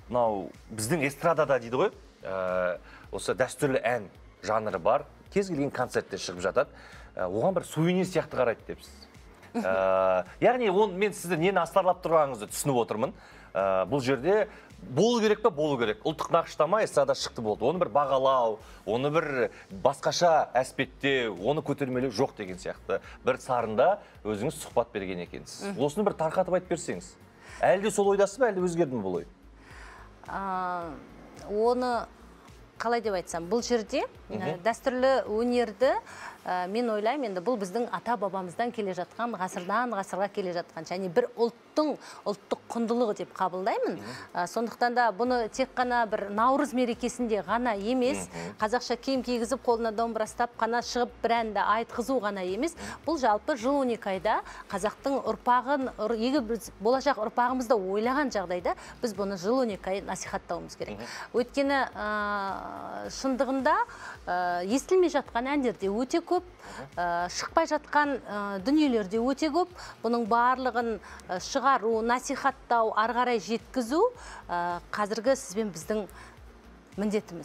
мынау біздің эстрадада дейді ғой, осы дәстүрлі ән жанры бар, кез келген концертте шығып жатады. Оған бір сувенир сияқты қарайды депсіз. Яғни мен сізді нені астарлап тұрғаныңызды түсініп отырмын. Бұл жерде болу керек пе, болу керек. Ұлттық нақыштама эстрада шықты болды. Оны бір бағалау, оны бір басқаша әспеттеу, оны көтермелеу жоқ деген сияқты. Бір сарында өзіңіз сұхбат берген екенсіз. Осыны бір тарқатып айтып берсеңіз. Әлде сол ойдасыз ба, әлде өзгерді ме бұл ой? Оны қалай деп айтсам, бұл жерде дәстүрлі өнерді мен ойлаймын, енді бұл біздің ата-бабамыздан келе жатқан, ғасырдан ғасырға келе жатқан, және бір ұлттық құндылығы деп қабылдаймын. Сондықтан да бұны тек қана бір Наурыз мерекесінде ғана емес, қазақша киім кигізіп, қолына домбыра ұстап қана шығып бір әнді айтқызу ғана емес, бұл жалпы жыл 12 айда қазақтың ұрпағын, егер біз болашақ ұрпағымызды ойлаған жағдайда, біз бұны жыл 12 ай насихаттауымыз керек. Өйткені шындығында естілмей жатқан әндерде өте көп, шықпай жатқан дүниелерде өте көп. Бұның барлығын шығару, насихаттау, ары қарай жеткізу қазіргі сізбен біздің міндетіміз.